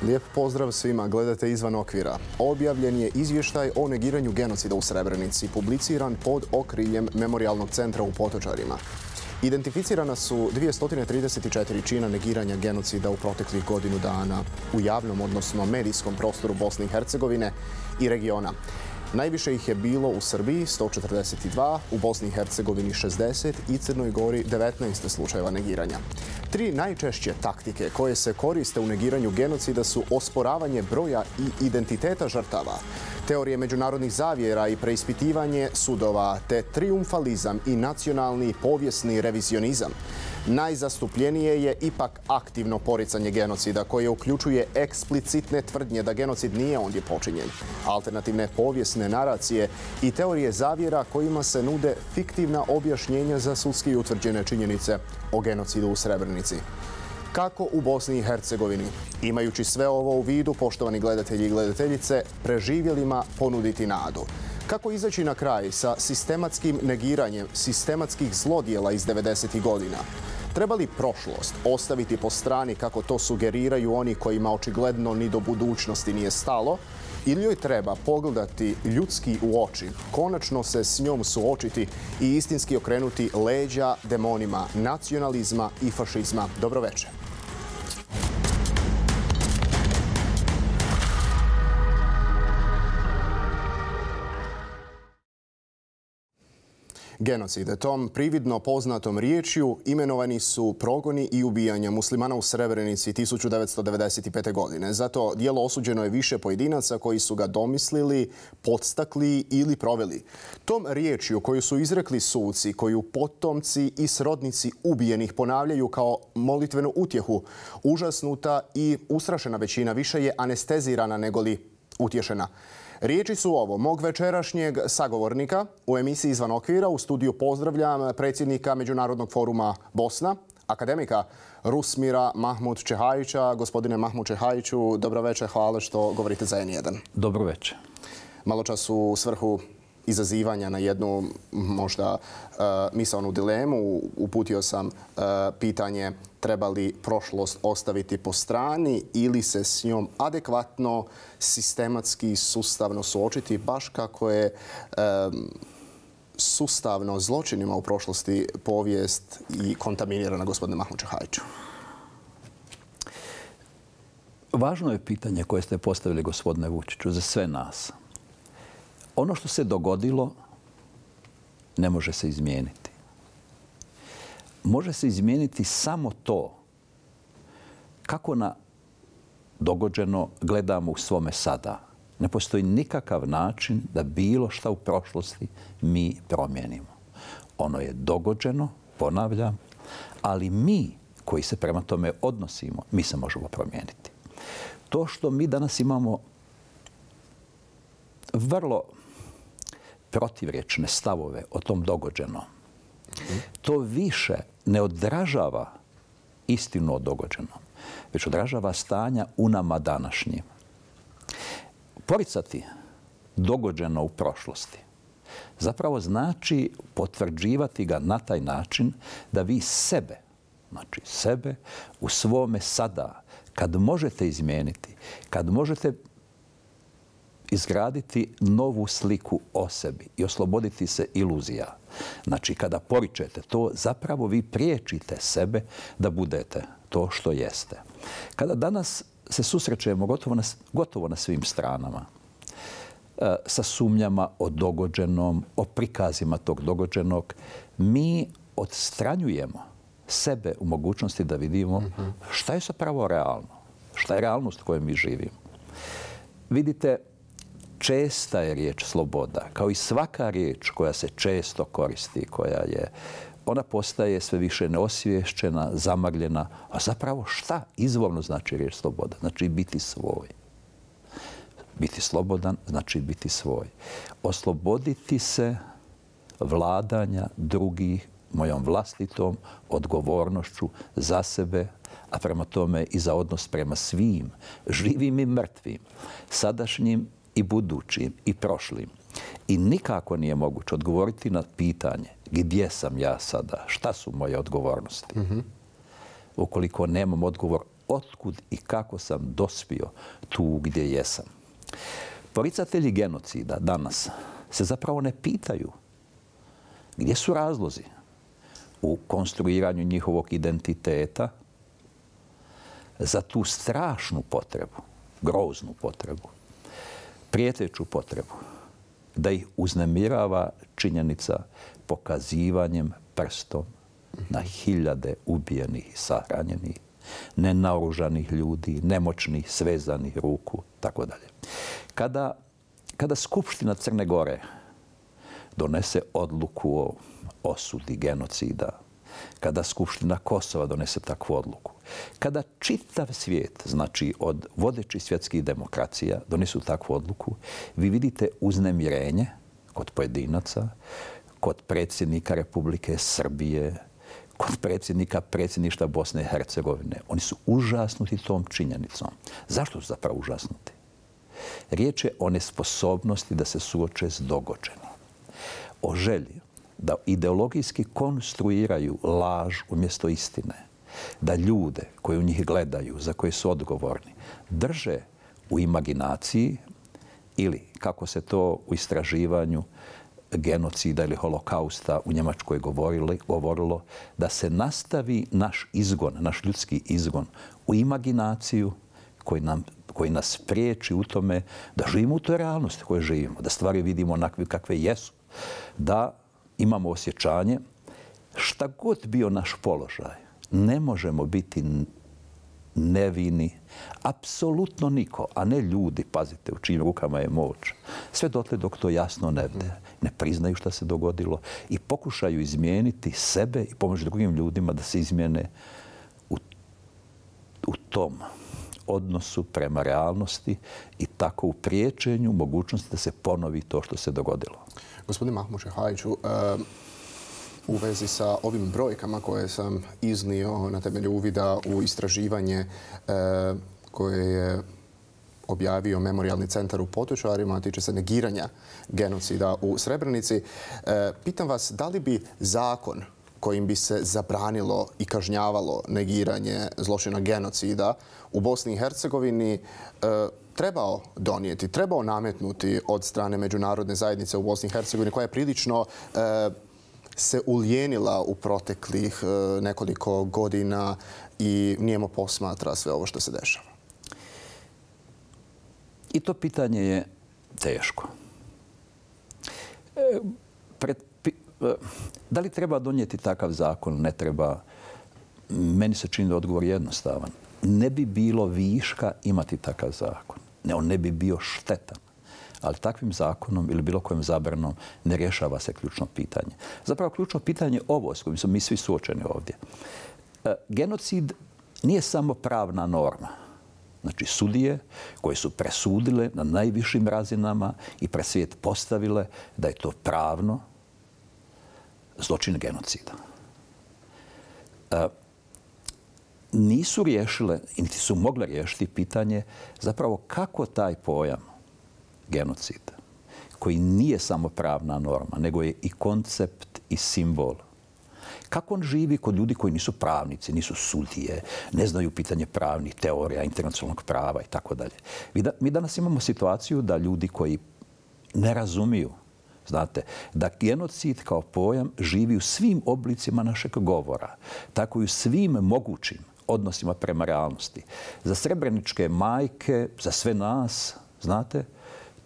Lijep pozdrav svima, gledate Izvan okvira. Objavljen je izvještaj o negiranju genocida u Srebrenici, publiciran pod okriljem Memorijalnog centra u Potočarima. Identificirana su 234 čina negiranja genocida u proteklih godinu dana u javnom, odnosno medijskom prostoru Bosne i Hercegovine i regiona. Najviše ih je bilo u Srbiji 142, u Bosni i Hercegovini 60 i Crnoj Gori 19 slučajeva negiranja. Tri najčešće taktike koje se koriste u negiranju genocida su osporavanje broja i identiteta žrtava, teorije međunarodnih zavjera i preispitivanje sudova, te triumfalizam i nacionalni povijesni revizionizam. Najzastupljenije je ipak aktivno poricanje genocida, koje uključuje eksplicitne tvrdnje da genocid nije ondje počinjen, alternativne povijesne naracije i teorije zavjera kojima se nude fiktivna objašnjenja za sudski utvrđene činjenice o genocidu u Srebrenici. Kako u Bosni i Hercegovini, imajući sve ovo u vidu, poštovani gledatelji i gledateljice, preživjelima ponuditi nadu? Kako izaći na kraj sa sistematskim negiranjem sistematskih zlodjela iz 90. godina? Treba li prošlost ostaviti po strani kako to sugeriraju oni kojima očigledno ni do budućnosti nije stalo? Ili joj treba pogledati ljudski u oči, konačno se s njom suočiti i istinski okrenuti leđa demonima nacionalizma i fašizma? Dobroveče. Genocid. Tom prividno poznatom riječju imenovani su progoni i ubijanja muslimana u Srebrenici 1995. godine. Zato dijelo osuđeno je više pojedinaca koji su ga domislili, podstakli ili proveli. Tom riječju koju su izrekli suci, koju potomci i srodnici ubijenih ponavljaju kao molitvenu utjehu, užasnuta i ustrašena većina više je anestezirana negoli utješena. Riječi su ovo mog večerašnjeg sagovornika u emisiji Izvan okvira. U studiju pozdravljam predsjednika Međunarodnog foruma Bosna, akademika Rusmira Mahmud Čehajića. Gospodine Mahmud Čehajiću, dobroveče, hvala što govorite za N1. Dobroveče. Malo čas u svrhu izazivanja na jednu možda misaonu dilemu uputio sam pitanje treba li prošlost ostaviti po strani ili se s njom adekvatno, sistematski, sustavno suočiti, baš kako je sustavno zločinima u prošlosti povijest i kontaminirana, gospodine Mahmud Čehajiću. Važno je pitanje koje ste postavili, gospodine Vučiću, za sve nas. Ono što se dogodilo ne može se izmijeniti. Može se izmijeniti samo to kako na dogođeno gledamo u svome sada. Ne postoji nikakav način da bilo šta u prošlosti mi promijenimo. Ono je dogođeno, ponavljam, ali mi koji se prema tome odnosimo, mi se možemo promijeniti. To što mi danas imamo vrlo protivrječne stavove o tom dogođenom, to više ne odražava istinu o dogođenom, već odražava stanja u nama današnjim. Poricati dogođeno u prošlosti zapravo znači potvrđivati ga na taj način da vi sebe, znači sebe u svome sada, kad možete izmijeniti, kad možete izgraditi novu sliku o sebi i osloboditi se iluzija. Znači, kada poričete to, zapravo vi priječite sebe da budete to što jeste. Kada danas se susrećemo gotovo na svim stranama sa sumnjama o dogođenom, o prikazima tog dogođenog, mi odstranjujemo sebe u mogućnosti da vidimo šta je zapravo realno, šta je realnost u kojoj mi živimo. Vidite, česta je riječ sloboda, kao i svaka riječ koja se često koristi, ona postaje sve više neosviješćena, zamagljena. A zapravo šta izvorno znači riječ sloboda? Znači biti svoj. Biti slobodan znači biti svoj. Osloboditi se vladanja drugih mojom vlastitom odgovornošću za sebe, a prema tome i za odnos prema svim, živim i mrtvim, sadašnjim i budućim i prošlim. I nikako nije moguće odgovoriti na pitanje gdje sam ja sada, šta su moje odgovornosti. Ukoliko nemam odgovor otkud i kako sam dospio tu gdje jesam. Poricatelji genocida danas se zapravo ne pitaju gdje su razlozi u konstruiranju njihovog identiteta za tu strašnu potrebu, groznu potrebu, prijeteću potrebu da ih uznemirava činjenica pokazivanjem prstom na hiljade ubijenih i sahranjenih, nenaoružanih ljudi, nemoćnih, svezanih ruku, tako dalje. Kada Skupština Crne Gore donese odluku o osudi genocida, kada Skupština Kosova donese takvu odluku, kada čitav svijet, znači od vodećih svjetskih demokracija, donesu takvu odluku, vi vidite uznemirenje kod pojedinaca, kod predsjednika Republike Srbije, kod predsjedništva Bosne i Hercegovine. Oni su užasnuti tom činjenicom. Zašto su zapravo užasnuti? Riječ je o nesposobnosti da se suoče s događajem. O želji da ideologijski konstruiraju laž umjesto istine. Da ljude koji u njih gledaju, za koje su odgovorni, drže u imaginaciji ili, kako se to u istraživanju genocida ili holokausta u Njemačkoj govorilo, da se nastavi naš izgon, naš ljudski izgon u imaginaciju koji nas priječi u tome da živimo u toj realnosti koje živimo, da stvari vidimo onakve kakve jesu, da imamo osjećanje šta god bio naš položaj, ne možemo biti nevini, apsolutno niko, a ne ljudi, pazite, u čijim rukama je moć. Sve dotle dok to jasno ne vide, ne priznaju šta se dogodilo i pokušaju izmijeniti sebe i pomoći drugim ljudima da se izmijene u tom odnosu prema realnosti i tako u priječenju mogućnosti da se ponovi to što se dogodilo. Gospodin Mahmud Šehajiću, u vezi sa ovim brojkama koje sam iznio na temelju uvida u istraživanje koje je objavio Memorijalni centar u Potočarima, a tiče se negiranja genocida u Srebrenici, pitam vas da li bi zakon kojim bi se zabranilo i kažnjavalo negiranje zločina genocida u Bosni i Hercegovini trebao donijeti, trebao nametnuti od strane međunarodne zajednice u Bosni i Hercegovini, koja je prilično se ulijenila u proteklih nekoliko godina i nijemo posmatra sve ovo što se dešava? I to pitanje je teško. Da li treba donijeti takav zakon? Ne treba. Meni se čini da odgovor jednostavan. Ne bi bilo viška imati takav zakon. On ne bi bio štetan. Ali takvim zakonom ili bilo kojim zabranom ne rješava se ključno pitanje. Zapravo ključno pitanje je ovo s kojim smo mi svi suočeni ovdje. Genocid nije samo pravna norma. Znači sudije koje su presudile na najvišim razinama i pred svijet postavile da je to pravno zločin genocida. Nisu riješile, niti su mogle riješiti pitanje zapravo kako taj pojam genocida, koji nije samo pravna norma, nego je i koncept i simbol. Kako on živi kod ljudi koji nisu pravnici, nisu sudije, ne znaju pitanje pravnih teorija, internacionalnog prava i tako dalje. Mi danas imamo situaciju da ljudi koji ne razumiju, znate, da genocid kao pojam živi u svim oblicima našeg govora, tako i u svim mogućim odnosima prema realnosti. Za srebreničke majke, za sve nas, znate,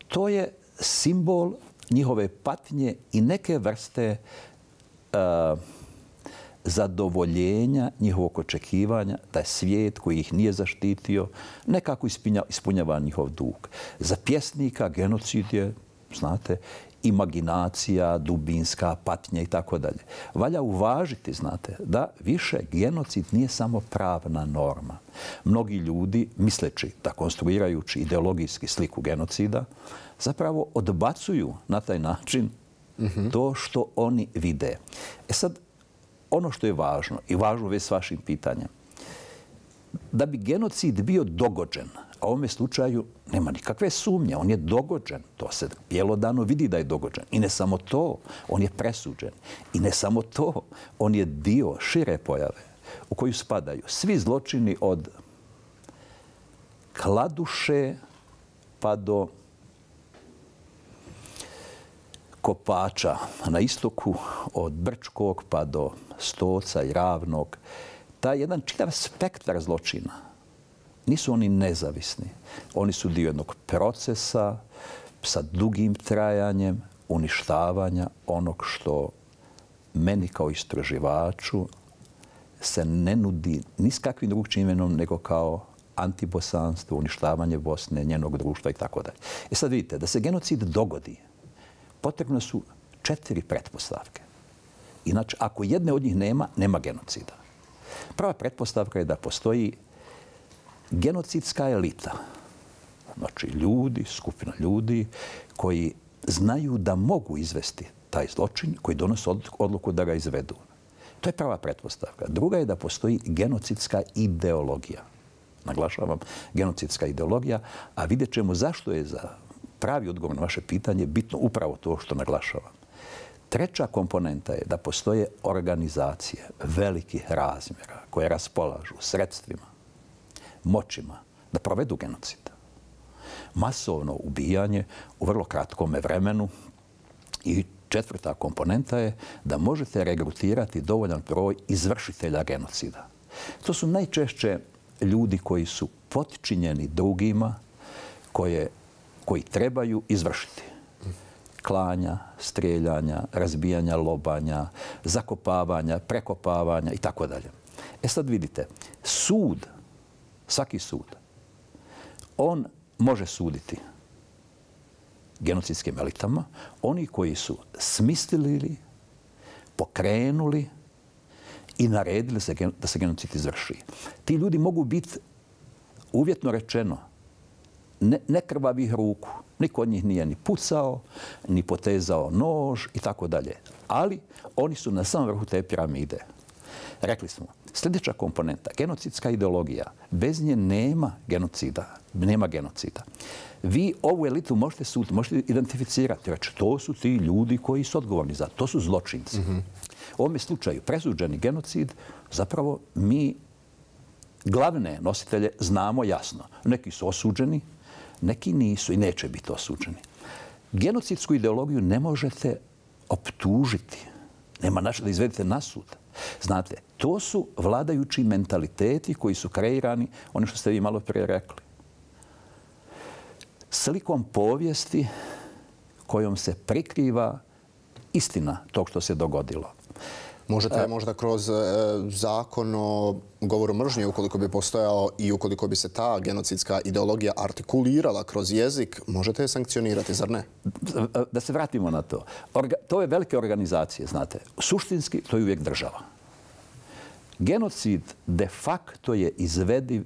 to je simbol njihove patnje i neke vrste zadovoljenja njihovog očekivanja da je svijet koji ih nije zaštitio nekako ispunjava njihov dug. Za pjesnika genocid je, znate, imaginacija, dubinska patnja i tako dalje. Valja uvažiti, znate, da više genocid nije samo pravna norma. Mnogi ljudi, misleći da konstruirajući ideologijski sliku genocida, zapravo odbacuju na taj način to što oni vide. Sad, ono što je važno i važno već s vašim pitanjem, da bi genocid bio dogođen, a u ovome slučaju nema nikakve sumnje, on je dogođen. To se bjelodano vidi da je dogođen. I ne samo to, on je presuđen. I ne samo to, on je dio šire pojave u koju spadaju svi zločini od Kladuše pa do Kopača na istoku, od Brčkog pa do Stoca i Ravnog, taj jedan čitav spektar zločina. Nisu oni nezavisni. Oni su dio jednog procesa sa dugim trajanjem uništavanja onog što meni kao istraživaču se ne nudi ni s kakvim drugčijim imenom nego kao antibosanstvo, uništavanje Bosne, njenog društva i tako dalje. E sad vidite, da se genocid dogodi, potrebno su 4 pretpostavke. Inače, ako jedne od njih nema, nema genocida. Prva pretpostavka je da postoji genocidska elita. Znači, ljudi, skupina ljudi koji znaju da mogu izvesti taj zločin, koji donose odluku da ga izvedu. To je prva pretpostavka. Druga je da postoji genocidska ideologija. Naglašavam, genocidska ideologija, a vidjet ćemo zašto je za pravi odgovor na vaše pitanje bitno upravo to što naglašavam. Treća komponenta je da postoje organizacije velikih razmjera koje raspolažu sredstvima, moćima da provedu genocid. Masovno ubijanje u vrlo kratkome vremenu. I četvrta komponenta je da možete regrutirati dovoljan broj izvršitelja genocida. To su najčešće ljudi koji su potčinjeni drugima koji trebaju izvršiti. Klanja, strijeljanja, razbijanja lobanja, zakopavanja, prekopavanja i tako dalje. E sad vidite, sud, svaki sud, on može suditi genocidskim elitama, oni koji su smislili, pokrenuli i naredili da se genocid izvrši. Ti ljudi mogu biti, uvjetno rečeno, nekrvavih ruku. Niko od njih nije ni pucao, ni potezao nož i tako dalje. Ali oni su na samom vrhu te piramide. Rekli smo, sljedeća komponenta, genocidska ideologija. Bez nje nema genocida. Nema genocida. Vi ovu elitu možete identificirati. Reći, to su ti ljudi koji su odgovorni za to. To su zločinci. U ovome slučaju presuđeni genocid, zapravo mi glavne nositelje znamo jasno. Neki su osuđeni, neki nisu i neće biti osuđeni. Genocidsku ideologiju ne možete optužiti. Nema način da izvedete na sud. Znate, to su vladajući mentaliteti koji su kreirani, ono što ste vi malo prije rekli. Slikom povijesti kojom se prikriva istina tog što se dogodilo. Možete možda kroz zakon o govoru mržnje, ukoliko bi postojao i ukoliko bi se ta genocidska ideologija artikulirala kroz jezik, možete je sankcionirati, zar ne? Da se vratimo na to. To je velike organizacije, znate. Suštinski to je uvijek država. Genocid de facto je izvediv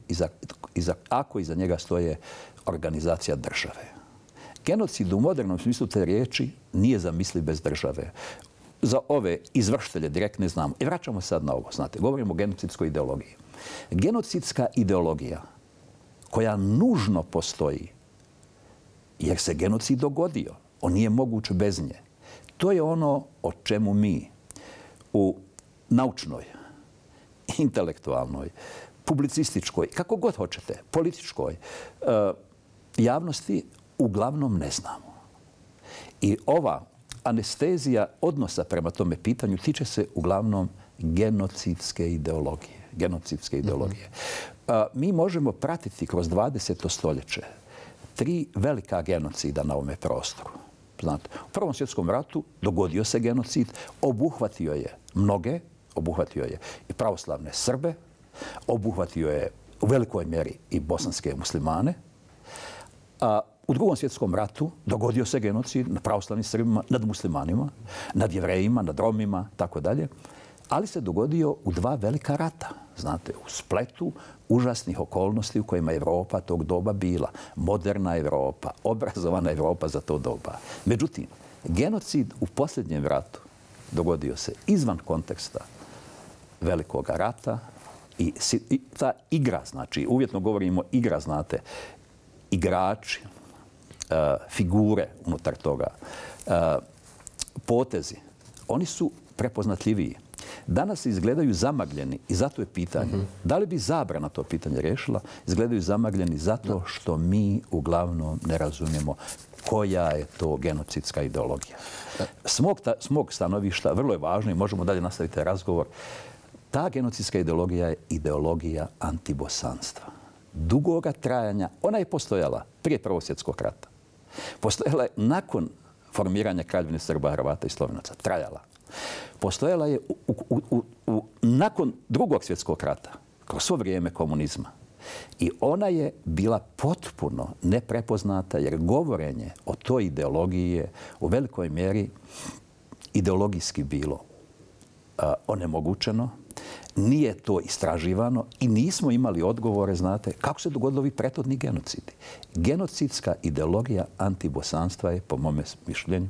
ako iza njega stoje organizacija države. Genocid u modernom smislu te riječi nije zamisliv bez države. Za ove izvršitelje direkt ne znamo. I vraćamo sad na ovo. Znate, govorimo o genocidskoj ideologiji. Genocidska ideologija koja nužno postoji jer se genocid dogodio. On nije moguć bez nje. To je ono o čemu mi u naučnoj, intelektualnoj, publicističkoj, kako god hoćete, političkoj javnosti uglavnom ne znamo. I ova anestezija odnosa prema tome pitanju tiče se uglavnom genocidske ideologije. Mi možemo pratiti kroz 20. stoljeće 3 velika genocida na ovome prostoru. Znate, u Prvom svjetskom ratu dogodio se genocid, obuhvatio je mnoge, obuhvatio je i pravoslavne Srbe, obuhvatio je u velikoj mjeri i bosanske muslimane. U Drugom svjetskom ratu dogodio se genocid nad pravoslavnim Srbima, nad muslimanima, nad Jevrejima, nad Romima, tako dalje. Ali se dogodio u 2 velika rata. Znate, u spletu užasnih okolnosti u kojima je Evropa tog doba bila. Moderna Evropa, obrazovana Evropa za to doba. Međutim, genocid u posljednjem ratu dogodio se izvan konteksta velikog rata i ta igra, znači, uvjetno govorimo igra, znate, igrači, figure unutar toga, potezi, oni su prepoznatljiviji. danas izgledaju zamagljeni i zato je pitanje. Da li bi zabrana to pitanje rješila? Izgledaju zamagljeni zato što mi uglavnom ne razumijemo koja je to genocidska ideologija. S mog stanovišta, vrlo je važno i možemo dalje nastaviti razgovor, ta genocidska ideologija je ideologija antibosanstva. Dugoga trajanja, ona je postojala prije Prvog svjetskog rata. Postojala je nakon formiranja Kraljevine Srba, Hrvata i Slovenaca. Trajala. Postojala je nakon Drugog svjetskog rata, kroz svo vrijeme komunizma. I ona je bila potpuno neprepoznata jer govorenje o toj ideologiji je u velikoj mjeri ideologijski bilo onemogućeno. Nije to istraživano i nismo imali odgovore, znate, kako se dogodilo ovi prethodni genocidi. Genocidska ideologija antibosanstva je, po mome mišljenju,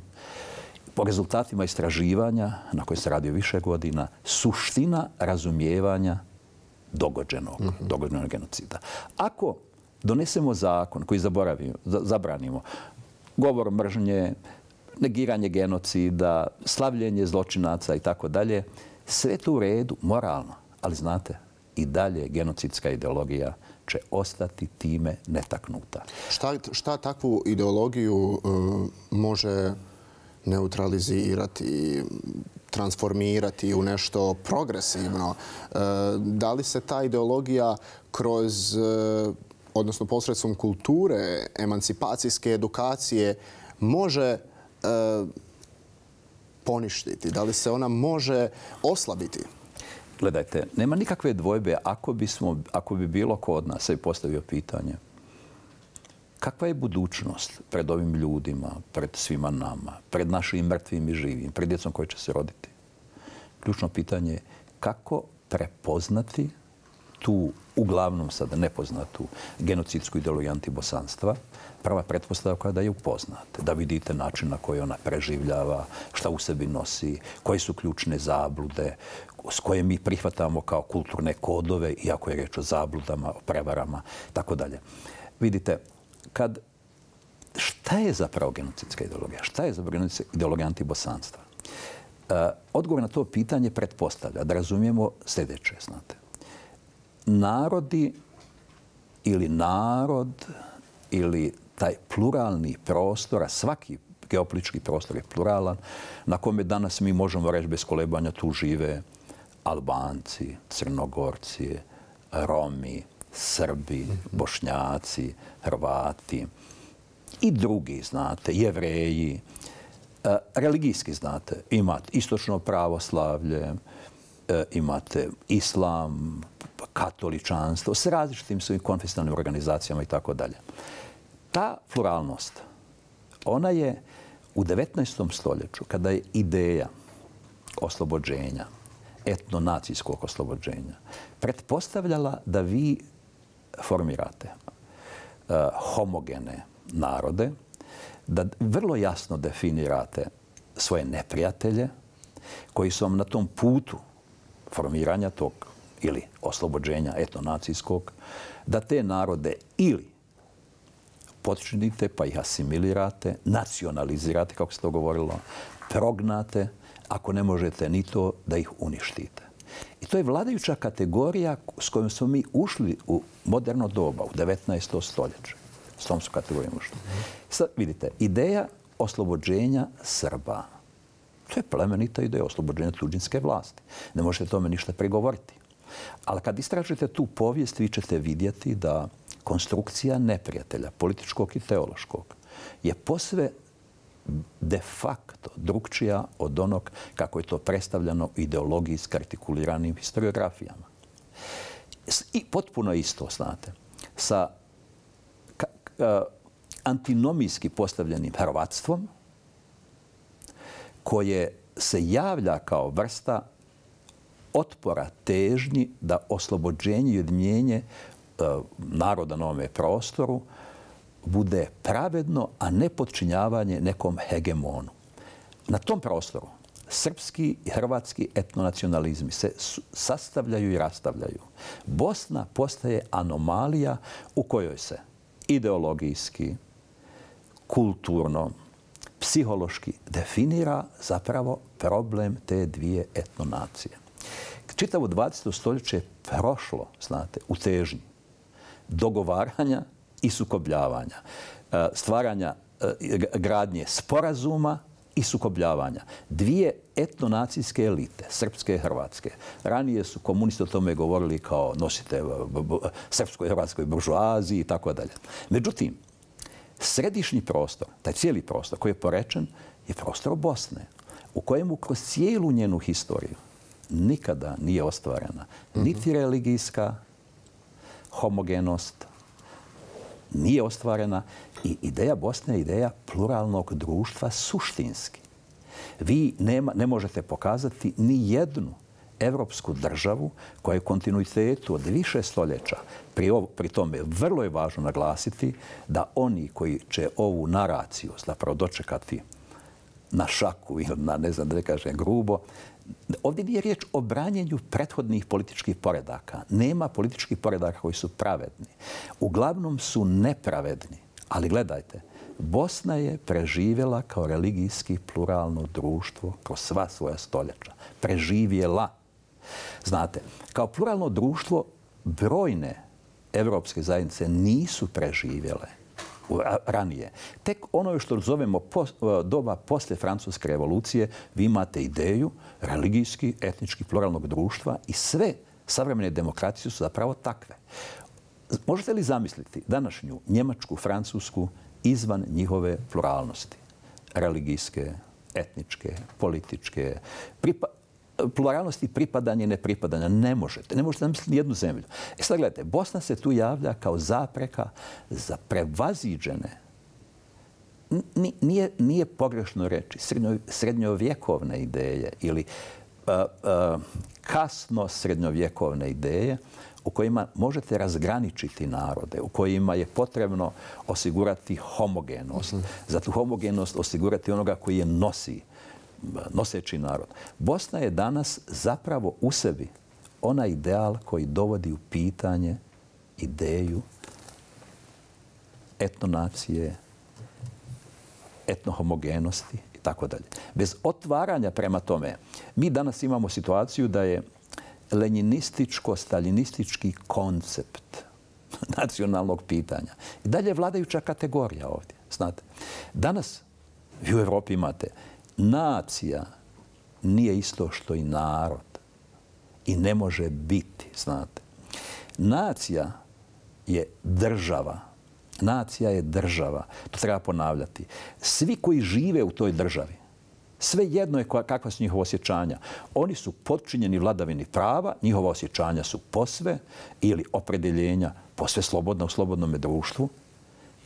po rezultatima istraživanja, na koje se radio više godina, suština razumijevanja dogođenog genocida. Ako donesemo zakon koji zabranimo govor mržnje, negiranje genocida, slavljenje zločinaca i tako dalje, sve to u redu, moralno. Ali znate, i dalje genocidska ideologija će ostati time netaknuta. Šta takvu ideologiju može neutralizirati, transformirati u nešto progresivno? Da li se ta ideologija kroz, odnosno posredstvom kulture, emancipacijske edukacije može poništiti? Da li se ona može oslabiti? Gledajte, nema nikakve dvojbe ako bi bilo ko od nas sebi postavio pitanje kakva je budućnost pred ovim ljudima, pred svima nama, pred našim mrtvim i živim, pred djecom koji će se roditi. Ključno pitanje je kako prepoznati tu, uglavnom sada nepoznatu, genocidsku ideologiju antibosanstva. Prva pretpostavka je da je upoznate, da vidite način na koji ona preživljava, šta u sebi nosi, koje su ključne zablude, s koje mi prihvatamo kao kulturne kodove, iako je reč o zabludama, o prevarama, tako dalje. Vidite, šta je zapravo genocidska ideologija? Šta je zapravo ideologija antibosanstva? Odgovor na to pitanje pretpostavlja da razumijemo sljedeće, znate. Narodi ili narod ili taj pluralni prostor, a svaki geopolitički prostor je pluralan, na kome danas mi možemo reći bez kolebanja tu žive Albanci, Crnogorci, Romi, Srbi, Bošnjaci, Hrvati i drugi, znate, Jevreji. Religijski, znate, imate istočno pravoslavlje, imate islam, katoličanstvo, s različitim svojim konfesionalnim organizacijama i tako dalje. Ta pluralnost, ona je u 19. stoljeću, kada je ideja oslobođenja, etnonacijskog oslobođenja, pretpostavljala da vi formirate homogene narode, da vrlo jasno definirate svoje neprijatelje koji su vam na tom putu formiranja tog ili oslobođenja etnonacijskog, da te narode ili počinite pa ih asimilirate, nacionalizirate, kako se to govorilo, prognate, ako ne možete ni to, da ih uništite. I to je vladajuća kategorija s kojom smo mi ušli u moderno doba, u 19. stoljeće. S tom su kategorijom ušli. Sad vidite, ideja oslobođenja Srba. To je plemenita ideja oslobođenja tuđinske vlasti. Ne možete tome ništa prigovoriti. Ali kad istražite tu povijest, vi ćete vidjeti da konstrukcija neprijatelja, političkog i teološkog, je posve de facto drugčija od onog kako je to predstavljeno u ideologiji s artikuliranim historiografijama. I potpuno isto, znate, sa antinomijski postavljenim hrvatstvom koje se javlja kao vrsta otpora težnji da oslobođenje i ujedinjenje naroda na ovome prostoru bude pravedno, a ne podčinjavanje nekom hegemonu. Na tom prostoru srpski i hrvatski etnonacionalizmi se sastavljaju i rastavljaju. Bosna postaje anomalija u kojoj se ideologijski, kulturno, psihološki definira zapravo problem te dvije etnonacije. Čitavo 20. stoljeće je prošlo, znate, u težnji dogovaranja i sukobljavanja, stvaranja gradnje sporazuma i sukobljavanja. Dvije etnonacijske elite, srpske i hrvatske. Ranije su komunisti o tome govorili kao nosite srpskoj i hrvatskoj buržoaziji i tako dalje. Međutim, središnji prostor, taj cijeli prostor koji je porečen, je prostor Bosne, u kojemu kroz cijelu njenu historiju nikada nije ostvarena niti religijska homogenost, nije ostvarena i ideja Bosne je ideja pluralnog društva suštinski. Vi ne možete pokazati ni jednu evropsku državu koja je u kontinuitetu od više stoljeća. Pri tome vrlo je važno naglasiti da oni koji će ovu naraciju zapravo dočekati na šaku ili na, ne znam da ne kažem grubo, ovdje nije riječ o branjenju prethodnih političkih poredaka. Nema političkih poredaka koji su pravedni. Uglavnom su nepravedni. Ali gledajte, Bosna je preživjela kao religijski pluralno društvo kroz sva svoja stoljeća. Preživjela. Znate, kao pluralno društvo brojne evropske zajednice nisu preživjele ranije. Tek ono što zovemo doba poslije Francuske revolucije, vi imate ideju religijski, etnički pluralnog društva i sve savremene demokracije su zapravo takve. Možete li zamisliti današnju Njemačku, Francusku izvan njihove pluralnosti? Religijske, etničke, političke, pluralnosti pripadanja i nepripadanja. Ne možete. Ne možete zamisliti jednu zemlju. Sad gledajte, Bosna se tu javlja kao zapreka za prevaziđene, nije pogrešno reći, srednjovjekovne ideje ili kasno srednjovjekovne ideje u kojima možete razgraničiti narode, u kojima je potrebno osigurati homogenost. Za tu homogenost osigurati onoga koji je noseći narod. Bosna je danas zapravo u sebi onaj ideal koji dovodi u pitanje ideju etnonacije, etnohomogenosti i tako dalje. Bez otvaranja prema tome, mi danas imamo situaciju da je lenjinističko-staljinistički koncept nacionalnog pitanja i dalje vladajuća kategorija ovdje. Znate, danas vi u Evropi imate nacija nije isto što i narod i ne može biti, znate. Nacija je država. Nacija je država. To treba ponavljati. Svi koji žive u toj državi, sve jedno je kakva su njihova osjećanja. Oni su podčinjeni vladavini prava, njihova osjećanja su posve ili opredeljenja posve slobodna u slobodnom društvu.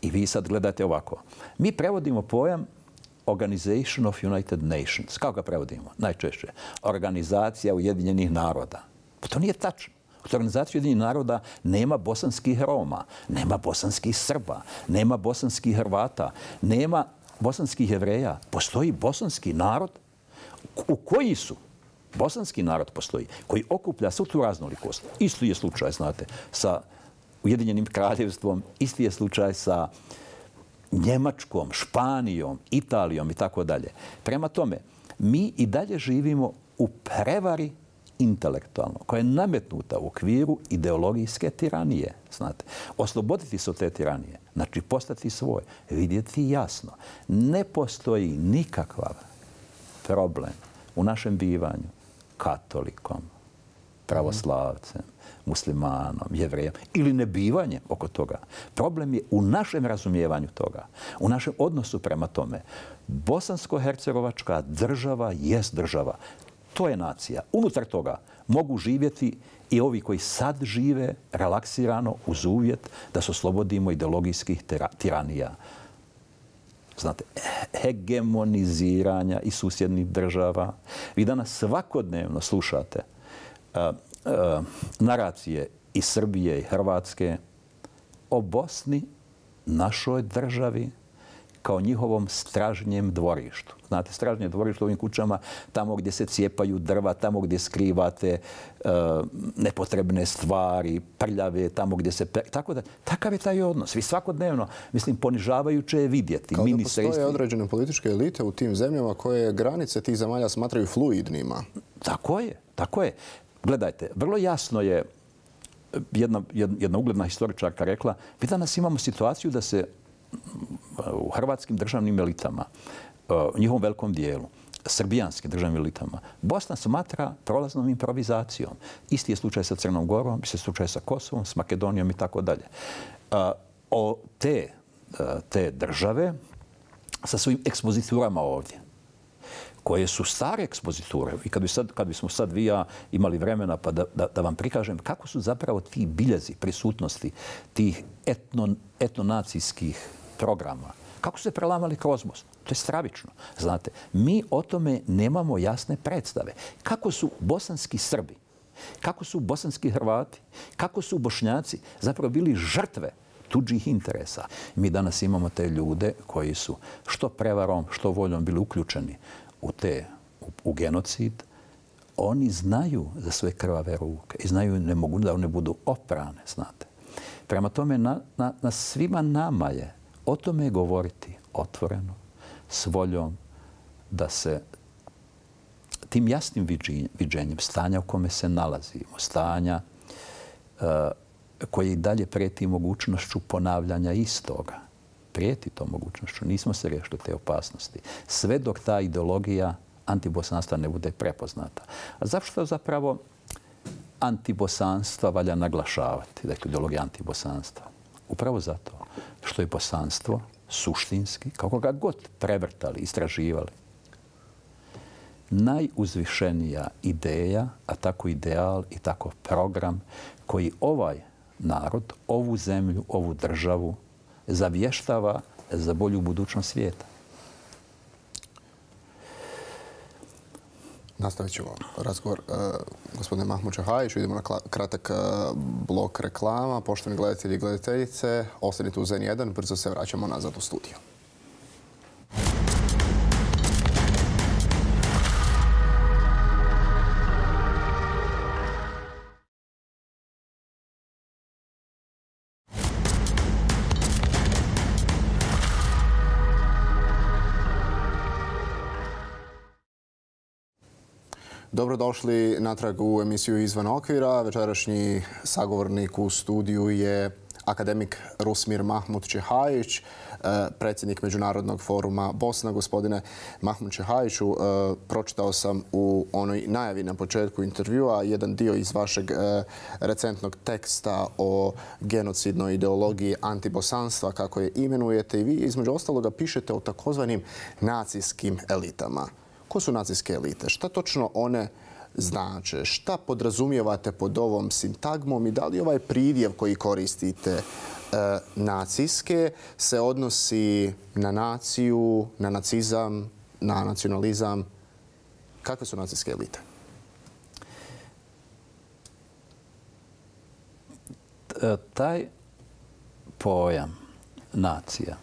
I vi sad gledate ovako. Mi prevodimo pojam Organization of United Nations. Kako ga prevodimo? Najčešće. Organizacija Ujedinjenih naroda. Pa to nije tačno. U organizaciji Ujedinjenih naroda nema bosanskih Roma, nema bosanskih Srba, nema bosanskih Hrvata, nema bosanskih Jevreja. Postoji bosanski narod u koji su bosanski narod postoji, koji okuplja svu tu raznolikost. Isto je slučaj, znate, sa Ujedinjenim kraljevstvom, isti je slučaj sa Njemačkom, Španijom, Italijom i tako dalje. Prema tome, mi i dalje živimo u prevari intelektualno, koja je nametnuta u okviru ideologijske tiranije. Znate, osloboditi se od te tiranije, znači postati svoj, vidjeti jasno. Ne postoji nikakav problem u našem bivanju katolikom, pravoslavcem, muslimanom, jevrejem ili nebivanjem oko toga. Problem je u našem razumijevanju toga, u našem odnosu prema tome. Bosansko-hercegovačka država jest država. To je nacija. Unutar toga mogu živjeti i ovi koji sad žive relaksirano uz uvjet da se oslobodimo ideologijskih tiranija. Znate, hegemoniziranja i susjednih država. Vi danas svakodnevno slušate naracije i Srbije i Hrvatske o Bosni, našoj državi, kao njihovom stražnjem dvorištu. Znate, stražnje dvorište u ovim kućama, tamo gdje se cijepaju drva, tamo gdje skrivate nepotrebne stvari, prljave, tamo gdje se... Tako da, takav je taj odnos. Vi svakodnevno, mislim, ponižavajuće je vidjeti. Kao da postoje određene političke elite u tim zemljama koje granice tih zemalja smatraju fluidnima. Tako je, tako je. Gledajte, vrlo jasno je jedna ugledna historičarka rekla, mi danas imamo situaciju da se u hrvatskim državnim elitama, u njihovom velikom dijelu, srbijanskim državnim elitama, Bosna smatra prolaznom improvizacijom. Isti je slučaj sa Crnom Gorom, isti je slučaj sa Kosovom, s Makedonijom i tako dalje. Te države sa svojim ekspoziturama ovdje, koje su stare ekspoziture. I kad bismo sad vi ja imali vremena pa da vam prikažem kako su zapravo ti biljezi prisutnosti tih etnonacijskih programa, kako su se prelamali kroz Bosnu. To je stravično. Znate, mi o tome nemamo jasne predstave. Kako su bosanski Srbi, kako su bosanski Hrvati, kako su Bošnjaci zapravo bili žrtve tuđih interesa. Mi danas imamo te ljude koji su što prevarom, što voljom bili uključeni u genocid. Oni znaju za svoje krvave ruke i znaju ne mogu da one budu oprane, znate. Prema tome, na svima nama je o tome govoriti otvoreno, s voljom da se tim jasnim viđenjem stanja u kome se nalazimo, stanja koje i dalje prijeti mogućnošću ponavljanja istoga. Prijeti to mogućnošću. Nismo se riješili te opasnosti. Sve dok ta ideologija antibosanstva ne bude prepoznata. A zašto zapravo antibosanstva valja naglašavati? Dakle, ideologija antibosanstva. Upravo zato što je bosanstvo suštinski, kako ga god prevrtali, istraživali, najuzvišenija ideja, a tako ideal i tako program koji ovaj narod, ovu zemlju, ovu državu zavještava za bolju budućnost svijeta. Nastavit ćemo razgovor. Gospodine Mahmud Čahajiću, idemo na kratak blok reklama. Poštovani gledatelji i gledateljice, ostanite uz N1, brzo se vraćamo nazad u studiju. Dobrodošli natrag u emisiju Izvan okvira. Večerašnji sagovornik u studiju je akademik Rusmir Mahmud Čahajić, predsjednik Međunarodnog foruma Bosna. Gospodine Mahmud Čahajiću, pročitao sam u onoj najavi na početku intervjua jedan dio iz vašeg recentnog teksta o genocidnoj ideologiji antibosanstva, kako je imenujete, i vi između ostaloga pišete o takozvanim nacijskim elitama. Ko su nacijske elite? Šta točno one znače? Šta podrazumijevate pod ovom sintagmom i da li ovaj pridjev koji koristite nacijske se odnosi na naciju, na nacizam, na nacionalizam? Kakve su nacijske elite? Taj pojam nacija,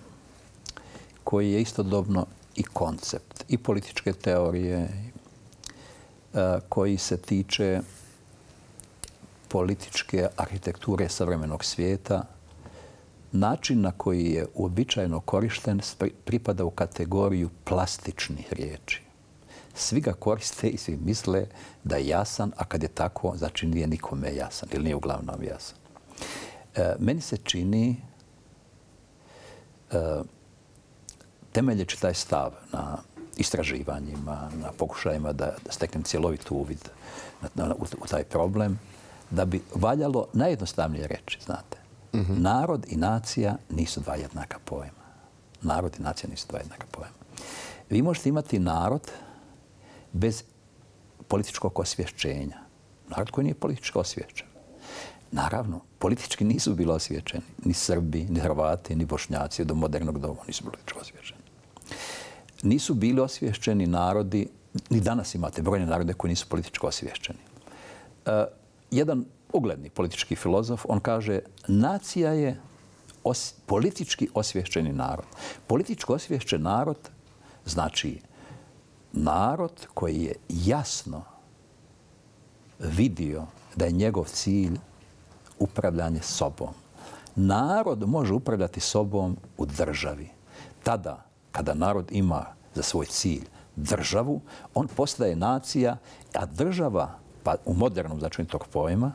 koji je istodobno i koncept, i političke teorije, koji se tiče političke arhitekture savremenog svijeta, način na koji je uobičajeno korišten pripada u kategoriju plastičnih riječi. Svi ga koriste i svi misle da je jasan, a kad je tako, znači nije nikome jasan ili nije uglavnom jasan. Meni se čini, temeljeći taj stav na istraživanjima, na pokušajima da steknem cjelovit uvid u taj problem, da bi valjalo najjednostavnije reći, znate, narod i nacija nisu dva jednaka pojma. Narod i nacija nisu dva jednaka pojma. Vi možete imati narod bez političkog osvješćenja. Narod koji nije politički osvješćen. Naravno, politički nisu bili osvješćeni ni Srbi, ni Hrvati, ni Bošnjaci do modernog doba nisu politički osvješćeni. Nisu bili osvješćeni narodi, ni danas imate brojne narode koji nisu politički osvješćeni. Jedan ugledni politički filozof, on kaže, nacija je politički osvješćeni narod. Politički osvješćen narod znači narod koji je jasno vidio da je njegov cilj upravljanje sobom. Narod može upravljati sobom u državi. Tada, kada narod ima za svoj cilj državu, on postaje nacija, a država, pa u modernom značenju tog pojma,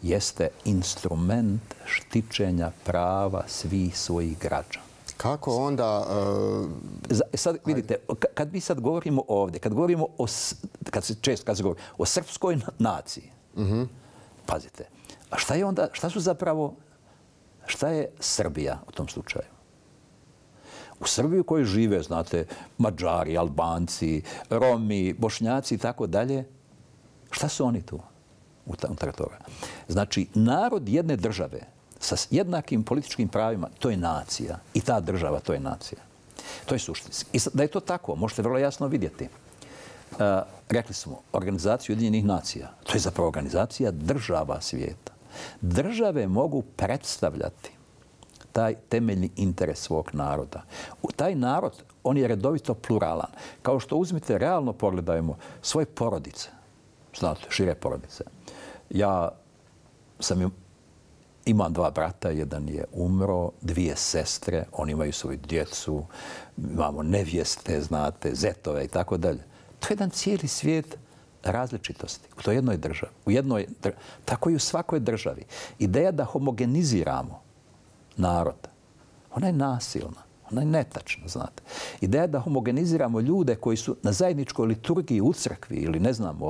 jeste instrument štićenja prava svih svojih građana. Kako onda... Sad vidite, kad mi sad govorimo ovdje, kad govorimo kad se govori o srpskoj naciji, pazite, a šta je onda, šta je Srbija u tom slučaju? U Srbiji u kojoj žive, znate, Mađari, Albanci, Romi, Bošnjaci i tako dalje, šta su oni tu unutar toga? Znači, narod jedne države sa jednakim političkim pravima, to je nacija. I ta država, to je nacija. To je suštinski. I da je to tako, možete vrlo jasno vidjeti. Rekli smo, organizaciju Ujedinjenih nacija, to je zapravo organizacija država svijeta. Države mogu predstavljati taj temeljni interes svog naroda. Taj narod, on je redovito pluralan. Kao što uzmite, realno pogledajmo svoje porodice. Znate, šire porodice. Ja imam 2 brata, jedan je umro, 2 sestre, oni imaju svoju djecu, imamo nevjeste, znate, zetove i tako dalje. To je jedan cijeli svijet različitosti u toj jednoj državi. Tako i u svakoj državi. Ideja da homogeniziramo narod, ona je nasilna, ona je netačna, znate. Ideja da homogeniziramo ljude koji su na zajedničkoj liturgiji u crkvi ili ne znam,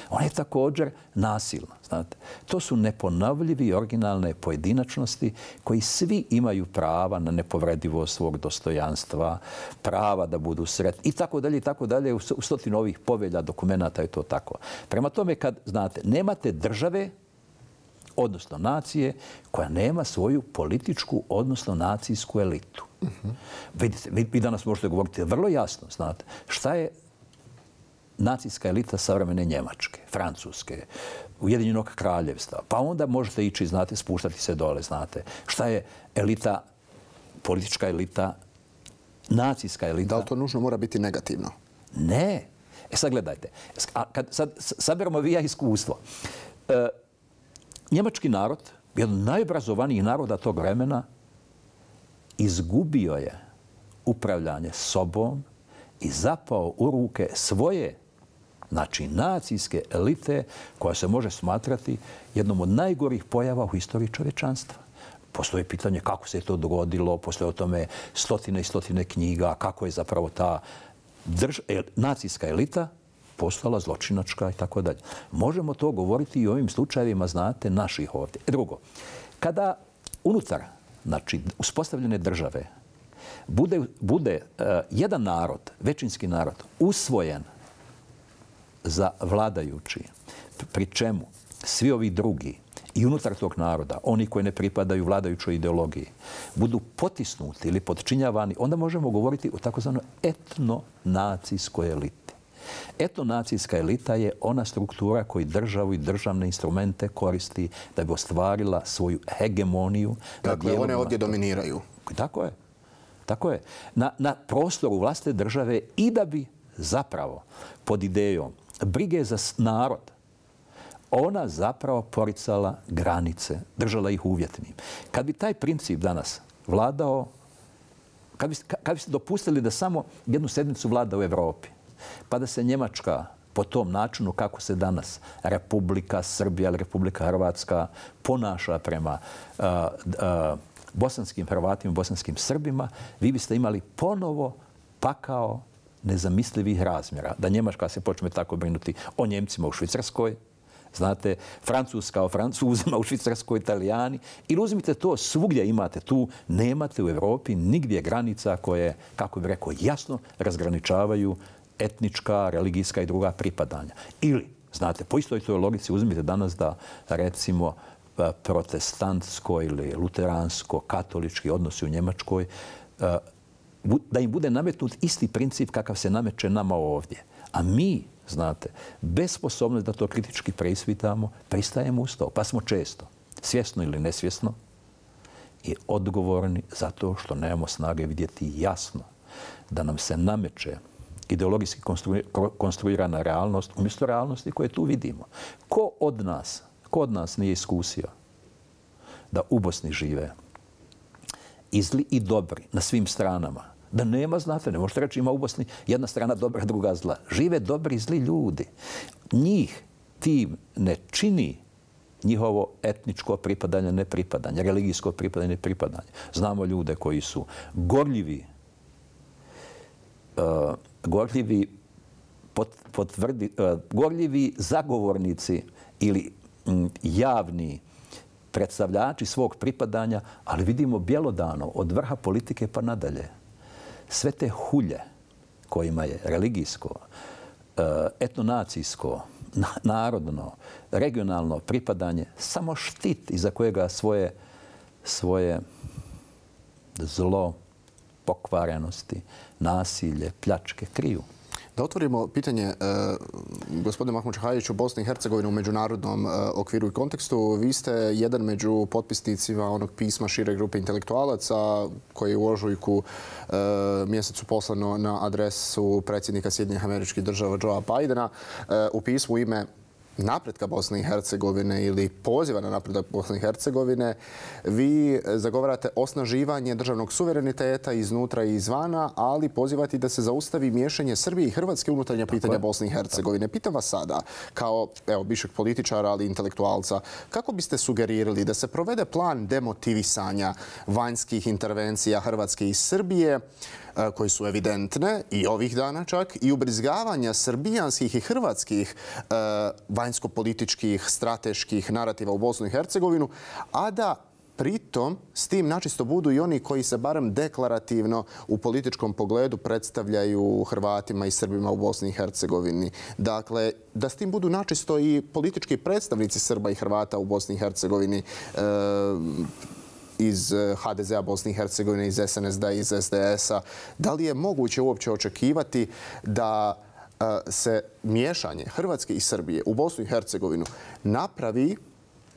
ona je također nasilna, znate. To su neponovljivi i originalne pojedinačnosti koji svi imaju prava na nepovredivost svog dostojanstva, prava da budu sretni i tako dalje i tako dalje. U 100 ovih povelja, dokumenata je to tako. Prema tome, kad, znate, nemate države, odnosno nacije, koja nema svoju političku, odnosno nacijsku elitu. Vidite, vi danas možete govoriti vrlo jasno, znate, šta je nacijska elita savremene Njemačke, Francuske, Ujedinjenog kraljevstva. Pa onda možete ići, znate, spuštati se dole, znate. Šta je elita, politička elita, nacijska elita? Da li to nužno mora biti negativno? Ne. Sad gledajte. Kad sad saberemo vi ja iskustvo. Njemački narod, jedan od najobrazovanijih naroda tog vremena, izgubio je upravljanje sobom i zapao u ruke svoje, znači nacijske elite, koja se može smatrati jednom od najgorih pojava u istoriji čovječanstva. Postoje pitanje kako se je to dogodilo, postoje o tome 100 i 100 knjiga, kako je zapravo ta nacijska elita postala zločinačka i tako dalje. Možemo to govoriti i o ovim slučajevima, znate, naših ovdje. Drugo, kada unutar, znači, uspostavljene države bude jedan narod, većinski narod, usvojen za vladajući, pri čemu svi ovi drugi i unutar tog naroda, oni koji ne pripadaju vladajućoj ideologiji, budu potisnuti ili podčinjavani, onda možemo govoriti o takozvanoj etnonacijskoj eliti. Etnonacijska elita je ona struktura koji državu i državne instrumente koristi da bi ostvarila svoju hegemoniju. Dakle, one ovdje dominiraju. Tako je. Tako je. Na prostoru vlastne države i da bi zapravo pod idejom brige za narod, ona zapravo poricala granice, držala ih uvjetnim. Kad bi taj princip danas vladao, kad biste dopustili da samo jednu sedmicu vlada u Evropi, pa da se Njemačka po tom načinu kako se danas Republika Srbija ili Republika Hrvatska ponaša prema bosanskim Hrvatima, bosanskim Srbima, vi biste imali ponovo pakao nezamislivih razmjera. Da Njemačka se počne tako brinuti o Njemcima u Švicarskoj, znate, Francuska o Francuzima u Švicarskoj, Italijani. Ili uzmite to, svugdje imate tu, nemate u Evropi nigdje granica koje, kako bih rekao, jasno razgraničavaju etnička, religijska i druga pripadanja. Ili, znate, po istoj toj logici uzmite danas da, recimo, protestantsko ili luteransko, katolički odnosi u Njemačkoj, da im bude nametnut isti princip kakav se nameće nama ovdje. A mi, znate, bez sposobnosti da to kritički preispitamo, pristajemo uz to. Pa smo često, svjesno ili nesvjesno, i odgovorni zato što nemamo snage vidjeti jasno da nam se nameće ideologijski konstruirana realnost umjesto realnosti koje tu vidimo. Ko od nas nije iskusio da u Bosni žive i zli i dobri na svim stranama? Da nema, znate, ne možete reći ima u Bosni jedna strana dobra, druga zla. Žive dobri i zli ljudi. Njih tim ne čini njihovo etničko pripadanje, nepripadanje, religijsko pripadanje, nepripadanje. Znamo ljude koji su gorljivi zagovornici ili javni predstavljači svog pripadanja, ali vidimo bjelodano od vrha politike pa nadalje. Sve te hulje kojima je religijsko, etnonacijsko, narodno, regionalno pripadanje samo štit iza kojega svoje zlo, pokvarenosti, nasilje, pljačke kriju. Da otvorimo pitanje, gospodine Mahmud Šahajiću, Bosne i Hercegovine u međunarodnom okviru i kontekstu. Vi ste jedan među potpisnicima onog pisma šire grupe intelektualaca koji je u ožujku mjesecu poslano na adresu predsjednika Sjedinjenih Američkih Država Joea Bidena. U pismu u ime napretka Bosne i Hercegovine ili poziva na napredak Bosne i Hercegovine, vi zagovarate osnaživanje državnog suvereniteta iznutra i izvana, ali pozivate da se zaustavi miješanje Srbije i Hrvatske unutarnja pitanja Bosne i Hercegovine. Pitam vas sada, kao bivšeg političara, ali intelektualca, kako biste sugerirali da se provede plan demotivisanja vanjskih intervencija Hrvatske i Srbije, koji su evidentne i ovih dana čak, i ubrizgavanja srbijanskih i hrvatskih vanjsko-političkih, strateških narativa u Bosnu i Hercegovinu, a da pritom s tim načisto budu i oni koji se barem deklarativno u političkom pogledu predstavljaju Hrvatima i Srbima u Bosni i Hercegovini. Dakle, da s tim budu načisto i politički predstavnici Srba i Hrvata u Bosni i Hercegovini, iz HDZ-a Bosne i Hercegovine, iz SNSD-a, iz SDS-a. Da li je moguće uopće očekivati da se miješanje Hrvatske i Srbije u Bosnu i Hercegovinu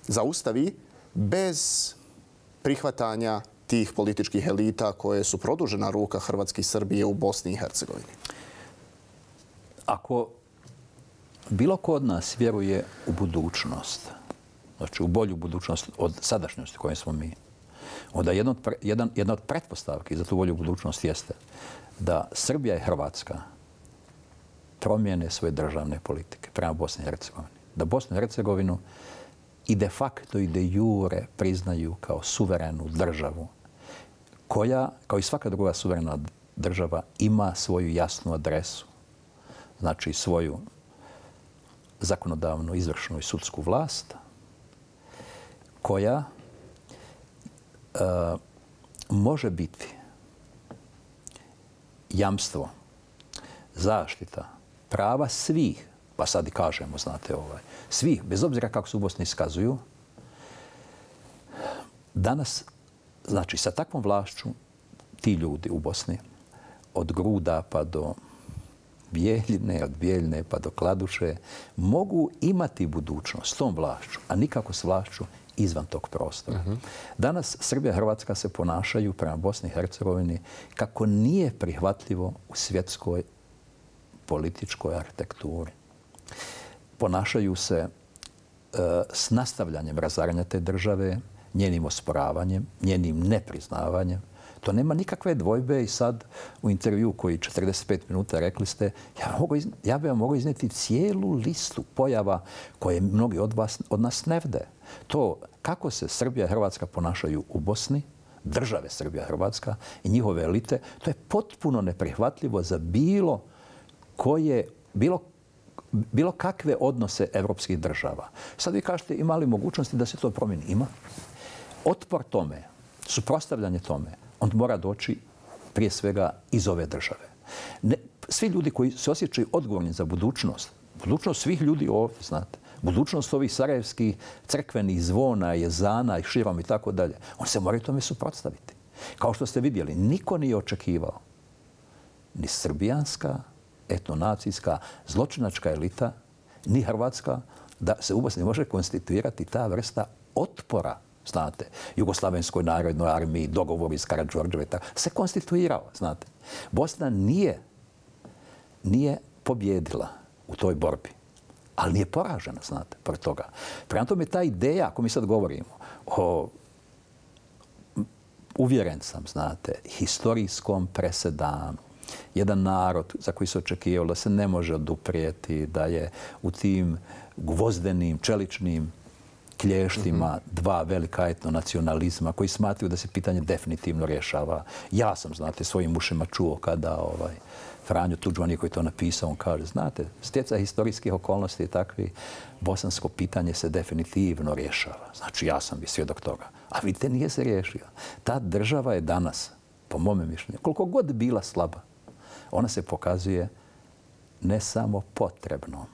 zaustavi bez prihvatanja tih političkih elita koje su produžena ruka Hrvatske i Srbije u Bosni i Hercegovini? Ako bilo ko od nas vjeruje u budućnost, znači u bolju budućnost od sadašnjosti koje smo mi, onda jedna od pretpostavki za tu bolju budućnost jeste da Srbija i Hrvatska promijene svoje državne politike prema Bosni i Hercegovini. Da Bosnu i Hercegovinu i de facto i de jure priznaju kao suverenu državu koja, kao i svaka druga suverena država, ima svoju jasnu adresu. Znači svoju zakonodavnu, izvršnu i sudsku vlast koja može biti jamstvo, zaštita prava svih, pa sad i kažemo, znate, svih, bez obzira kako se u Bosni iskazuju, danas, znači, sa takvom vlašću ti ljudi u Bosni, od Gruda pa do Bijeljine, od Bijeljine pa do Kladuše, mogu imati budućnost s tom vlašću, a nikako s vlašću izvan tog prostora. Danas Srbija i Hrvatska se ponašaju prema Bosni i Hercegovini kako nije prihvatljivo u svjetskoj političkoj arhitekturi. Ponašaju se s nastavljanjem razaranja te države, njenim osporavanjem, njenim nepriznavanjem. To nema nikakve dvojbe i sad u intervju koji 45 minuta rekli ste, ja bih vam mogao iznijeti cijelu listu pojava koje mnogi od nas ne vide. To kako se Srbija i Hrvatska ponašaju u Bosni, države Srbija i Hrvatska i njihove elite, to je potpuno neprihvatljivo za bilo kakve odnose evropskih država. Sad vi kažete, ima li mogućnosti da se to promijeni? Ima. Otpor tome, suprotstavljanje tome, on mora doći prije svega iz ove države. Svi ljudi koji se osjećaju odgovorni za budućnost svih ljudi ovdje, znate, budućnost ovih sarajevskih crkvenih zvona, jezana i širom i tako dalje, oni se moraju tome suprotstaviti. Kao što ste vidjeli, niko nije očekivao, ni srbijanska, etnonacijska, zločinačka elita, ni hrvatska, da se u Bosni može konstituirati ta vrsta otpora znate, Jugoslavenskoj narodnoj armiji, dogovori s Karađorđeve, se konstituirao, znate. Bosna nije pobjedila u toj borbi, ali nije poražena, znate, pored toga. Prema tome, ta ideja, ako mi sad govorimo o, uvjeren sam, znate, historijskom presedanu, jedan narod za koji se očekivalo da se ne može oduprijeti, da je u tim gvozdenim, čeličnim klještima dva velika etnonacionalizma koji smatraju da se pitanje definitivno rješava. Ja sam, znate, svojim ušima čuo kada Franjo Tuđman je koji to napisao, on kaže, znate, stjecaj historijskih okolnosti je takvi, bosansko pitanje se definitivno rješava. Znači, ja sam bi svjedok toga. A vidite, nije se riješio. Ta država je danas, po mome mišljenju, koliko god bila slaba, ona se pokazuje ne samo potrebnom,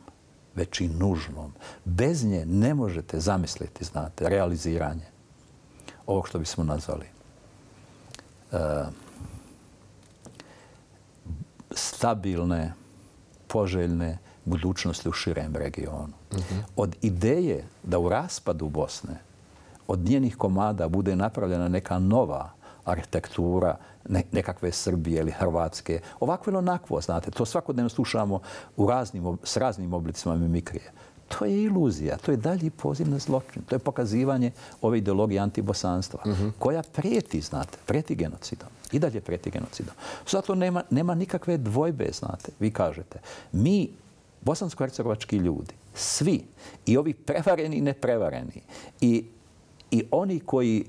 već i nužnom. Bez nje ne možete zamisliti, znate, realiziranje ovog što bismo nazvali stabilne, poželjne budućnosti u širem regionu. Od ideje da u raspadu Bosne od njenih komada bude napravljena neka nova arhitektura, nekakve Srbije ili Hrvatske, ovako ili onakvo, znate, to svakodnevno slušamo s raznim oblicima mimikrije. To je iluzija, to je dalji poziv na zločin, to je pokazivanje ove ideologije antibosanstva, koja prijeti, znate, prijeti genocidom. I dalje prijeti genocidom. Zato nema nikakve dvojbe, znate. Vi kažete, mi, bosansko-hercegovački ljudi, svi, i ovi prevareni i neprevareni, i oni koji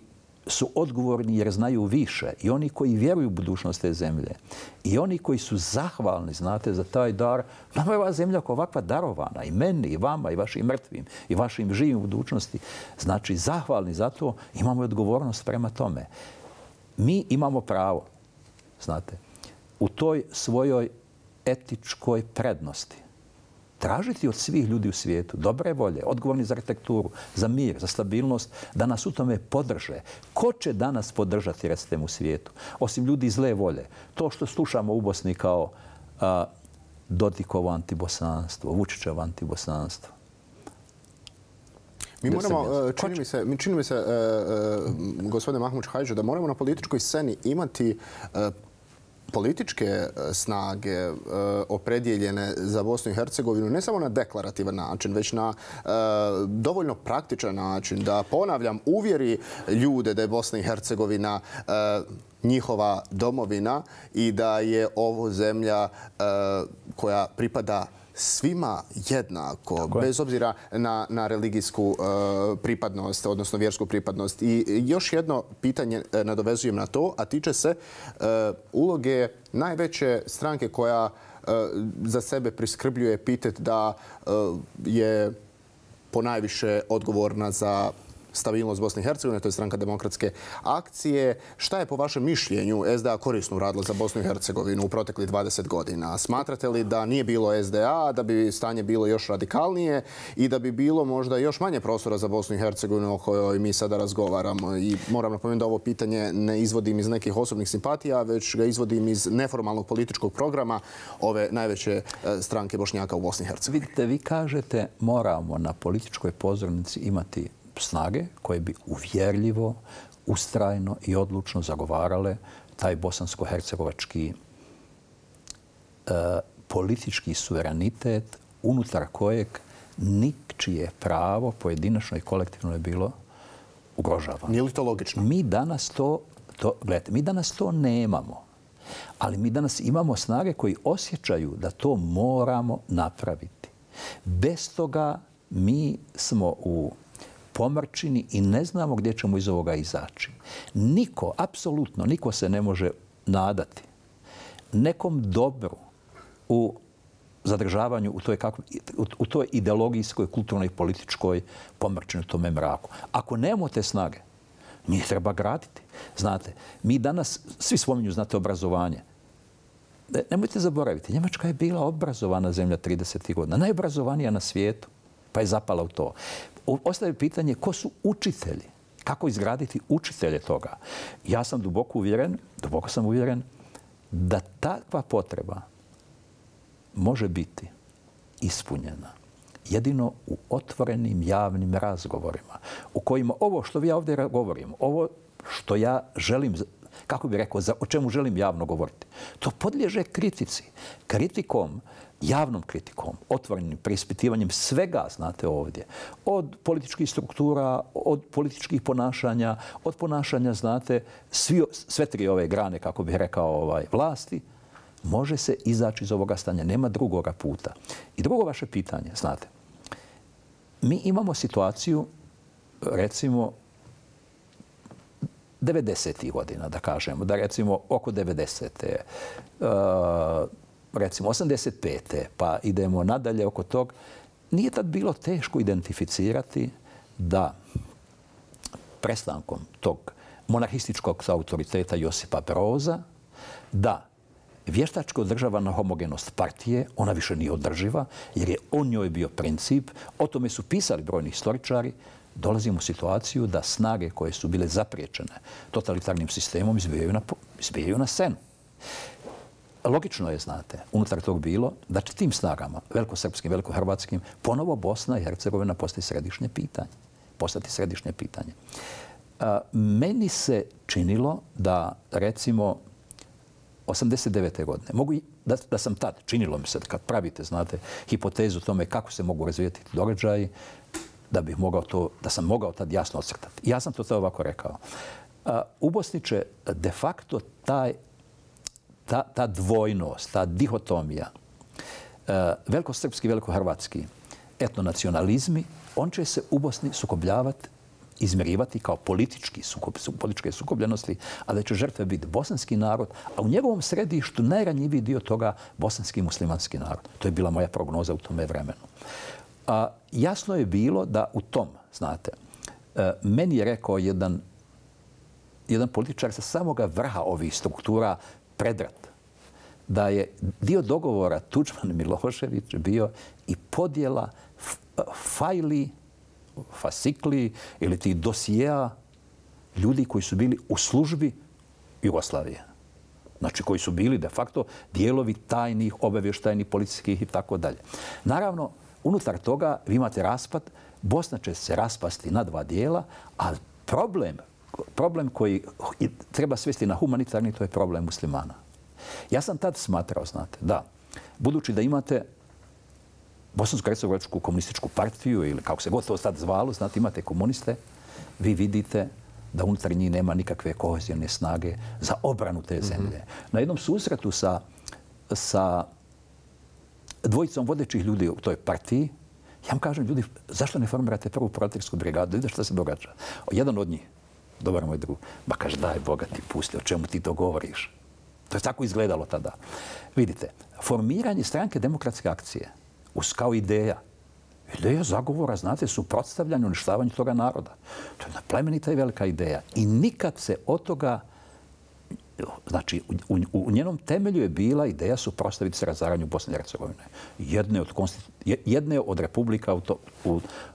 su odgovorni jer znaju više, i oni koji vjeruju u budućnost te zemlje, i oni koji su zahvalni, znate, za taj dar. Nama je ova zemlja ovakva darovana, i meni, i vama, i vašim mrtvim, i vašim živim u budućnosti. Znači, zahvalni za to, imamo i odgovornost prema tome. Mi imamo pravo, znate, u toj svojoj etičkoj prednosti tražiti od svih ljudi u svijetu dobre volje, odgovorni za arhitekturu, za mir, za stabilnost, da nas u tome podrže. Ko će danas podržati, recite mu, u svijetu? Osim ljudi zle volje. To što slušamo u Bosni kao Dodikovo antibosanstvo, Vučićevo antibosanstvo. Mi moramo, čini mi se, gospodine Mahmuć Hadži, da moramo na političkoj sceni imati političke snage opredjeljene za Bosnu i Hercegovinu ne samo na deklarativan način, već na dovoljno praktičan način, da, ponavljam, uvjeri ljude da je Bosna i Hercegovina njihova domovina i da je ovo zemlja koja pripada svima jednako, bez obzira na religijsku pripadnost, odnosno vjersku pripadnost. I još jedno pitanje nadovezujem na to, a tiče se uloge najveće stranke koja za sebe priskrbljuje epitet da je ponajviše odgovorna za stabilnost Bosne i Hercegovine, to je Stranka demokratske akcije. Šta je po vašem mišljenju SDA korisno uradilo za Bosnu i Hercegovinu u proteklih 20 godina? Smatrate li da nije bilo SDA, da bi stanje bilo još radikalnije i da bi bilo možda još manje prostora za Bosnu i Hercegovinu o kojoj mi sada razgovaramo? I moram napomenuti da ovo pitanje ne izvodim iz nekih osobnih simpatija, već ga izvodim iz neformalnog političkog programa ove najveće stranke Bošnjaka u Bosni i Hercegovini. Vidite, vi kažete moramo na političkoj pozornici imati snage koje bi uvjerljivo, ustrajno i odlučno zagovarale taj bosansko-hercegovački politički suverenitet unutar kojeg ničije pravo pojedinačno i kolektivno je bilo ugrožavano. Nije li to logično? Mi danas to nemamo. Ali mi danas imamo snage koji osjećaju da to moramo napraviti. Bez toga mi smo u pomrčini i ne znamo gdje ćemo iz ovoga izaći. Niko, apsolutno niko se ne može nadati nekom dobru u zadržavanju u toj ideologijskoj, kulturnoj i političkoj pomrčini, u tome mraku. Ako nemamo te snage, mi treba graditi. Znate, mi danas, svi spominju, znate, obrazovanje. Nemojte zaboraviti, Njemačka je bila obrazovana zemlja 30. godina, najobrazovanija na svijetu, pa je zapala u to. Ostaje pitanje ko su učitelji, kako izgraditi učitelje toga. Ja sam duboko sam uvjeren da takva potreba može biti ispunjena jedino u otvorenim javnim razgovorima u kojima ovo što ja ovdje govorim, ovo što ja želim, kako bih rekao, o čemu želim javno govoriti, to podliježe kritici. Kritikom, javnom kritikom, otvorenim preispitivanjem svega, znate, ovdje. Od političkih struktura, od političkih ponašanja, od ponašanja, znate, sve tri ove grane, kako bih rekao, vlasti, može se izaći iz ovoga stanja. Nema drugoga puta. I drugo vaše pitanje, znate, mi imamo situaciju, recimo, 90. godina, da kažemo, da recimo oko 90. Recimo 85. pa idemo nadalje oko tog. Nije tad bilo teško identificirati da prestankom tog monarhističkog autoriteta Josipa Broza, da vještačko održavana homogenost partije, ona više nije održiva, jer je on njoj bio princip. O tome su pisali brojni istoričari. Dolazimo u situaciju da snage koje su bile zapriječene totalitarnim sistemom izbijaju na scenu. Logično je, znate, unutar tog bilo da će tim snagama, velikosrpskim, velikohrvatskim, ponovo Bosna i Hercegovina postati središnje pitanje. Meni se činilo da, recimo, 89. godine, da sam tad, činilo mi se, kad pravite, znate, hipotezu o tome kako se mogu razvijeti događaji, da sam mogao tad jasno ocrtati. Ja sam to tad ovako rekao. U Bosni će de facto ta dvojnost, ta dihotomija, velikosrpski, velikohrvatski etnonacionalizmi, on će se u Bosni sukobljavati, izmjerivati kao političke sukobljenosti, a da će žrtve biti bosanski narod, a u njegovom središtu najranjiviji dio toga bosanski muslimanski narod. To je bila moja prognoza u tome vremenu. Jasno je bilo da u tom, znate, meni je rekao jedan političar sa samoga vrha ovih struktura, Predrad, da je dio dogovora Tuđman-Milošević bio i podjela fajli, fasikli ili tih dosijeja ljudi koji su bili u službi Jugoslavije. Znači koji su bili de facto dijelovi tajnih, obavještajnih, policijskih i tako dalje. Naravno, unutar toga vi imate raspad, Bosna će se raspasti na dva dijela, a problem koji treba svesti na humanitarni, to je problem muslimana. Ja sam tad smatrao, znate, da, budući da imate Bosansko-hercegovačku komunističku partiju ili kako se god to sad zvalo, znate, imate komuniste, vi vidite da unutar njih nema nikakve kohezijne snage za obranu te zemlje. Na jednom susretu sa dvojicom vodećih ljudi u toj partiji, ja vam kažem, ljudi, zašto ne formirate prvu proletarijatsku brigadu? Vidite što se događa. Jedan od njih, dobar moj drug, ba kaže, daj Boga ti pusti, o čemu ti to govoriš? To je tako izgledalo tada. Vidite, formiranje stranke demokratske akcije kao ideja zagovora, znate, suprotstavljanje, uništavanje toga naroda. To je jedna plemenita i velika ideja. I nikad se od toga, znači, u njenom temelju je bila ideja suprotstaviti se razaranju Bosne i Hercegovine. Jedne od republika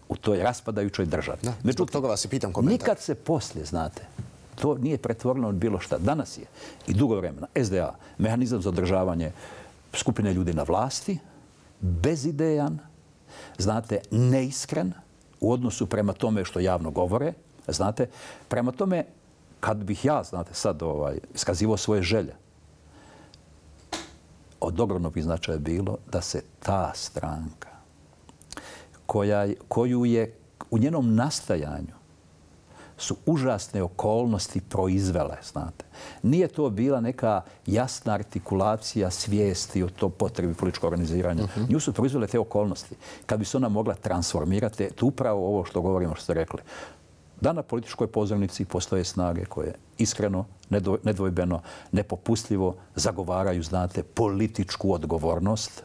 u toj raspadajućoj državi. Zbog toga vas i pitam komentar. Nikad se poslije, znate, to nije pretvoreno od bilo šta. Danas je i dugo vremena SDA, mehanizam za održavanje skupine ljudi na vlasti, bezidejan, znate, neiskren u odnosu prema tome što javno govore, znate, prema tome kad bih ja, znate, sad iskazivao svoje želje, od ogromnog bi značaja bilo da se ta stranka koju je u njenom nastajanju su užasne okolnosti proizvele, znate. Nije to bila neka jasna artikulacija svijesti o to potrebi političkog organiziranja. Nju su proizvele te okolnosti. Kad bi se ona mogla transformirati, to upravo ovo što govorimo, što ste rekli, da na političkoj pozornici postoje snage koje iskreno, nedvojbeno, nepopustljivo zagovaraju, znate, političku odgovornost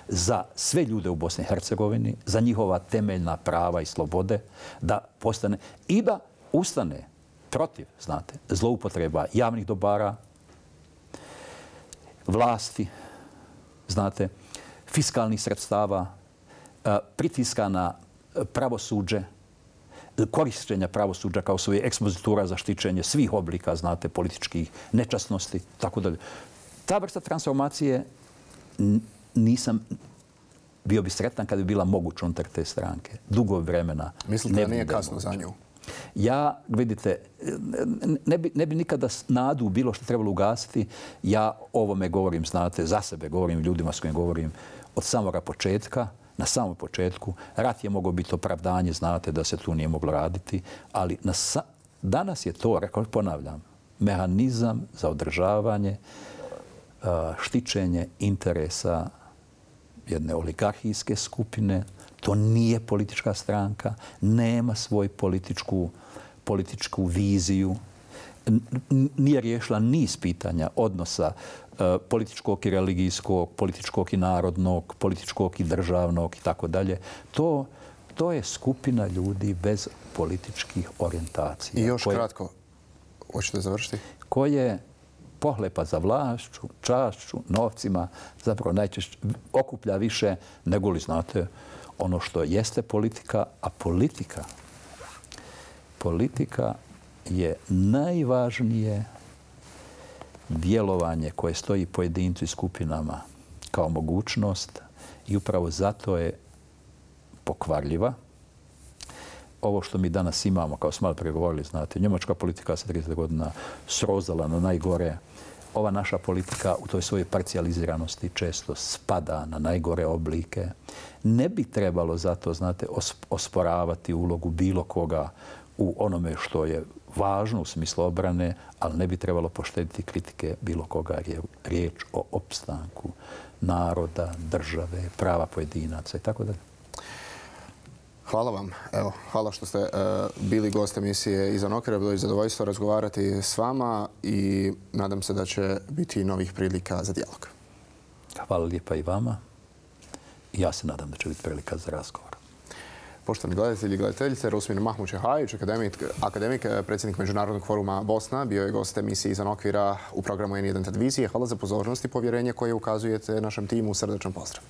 za sve ljude u Bosni i Hercegovini, za njihova temeljna prava i slobode, da postane i da ustane protiv, znate, zloupotreba javnih dobara, vlasti, znate, fiskalnih sredstava, pritiska na pravosuđe, korištenja pravosuđa kao svoje ekspozitura za štićenje svih oblika, znate, političkih nečasnosti, tako dalje. Ta vrsta transformacije nisam bio bi sretan kad bi bila moguća unutar te stranke. Dugo vremena. Mislite da nije kasno za nju? Ja, vidite, ne bi nikada nadu bilo što trebalo ugasiti. Ja ovome govorim, znate, za sebe govorim, ljudima s kojim govorim od samoga početka. Na samom početku. Rat je mogao biti opravdanje, znate da se tu nije moglo raditi, ali danas je to, ponavljam, mehanizam za održavanje, štićenje interesa jedne oligarhijske skupine. To nije politička stranka, nema svoju političku viziju, nije riješila niz pitanja odnosa političkog i religijskog, političkog i narodnog, političkog i državnog i tako dalje. To je skupina ljudi bez političkih orijentacija. I još kratko, hoćete završiti? Koje pohlepa za vlašću, čašću, novcima, zapravo najčešće okuplja više nego li, znate, ono što jeste politika, a politika je najvažnije djelovanje koje stoji pojedincu i skupinama kao mogućnost i upravo zato je pokvarljiva. Ovo što mi danas imamo, kao smo malo pregovorili, znate, njemačka politika se 30 godina srozala na najgore. Ova naša politika u toj svojoj parcijaliziranosti često spada na najgore oblike. Ne bi trebalo zato, znate, osporavati ulogu bilo koga u onome što je važno u smislu obrane, ali ne bi trebalo poštediti kritike bilo koga jer je riječ o opstanku naroda, države, prava pojedinaca i tako dalje. Hvala vam. Evo, hvala što ste bili gost emisije Izvan okvira. Bilo je zadovoljstvo razgovarati s vama i nadam se da će biti novih prilika za dijalog. Hvala lijepa i vama. Ja se nadam da će biti prilika za razgovor. Poštovani gledatelji i gledateljice, Rusmin Mahmučehajić, akademik, predsjednik Međunarodnog foruma Bosna, bio je gost emisije Izvan okvira u programu N1 televizije. Hvala za pozornost i povjerenje koje ukazujete našem timu. Srdačan pozdrav.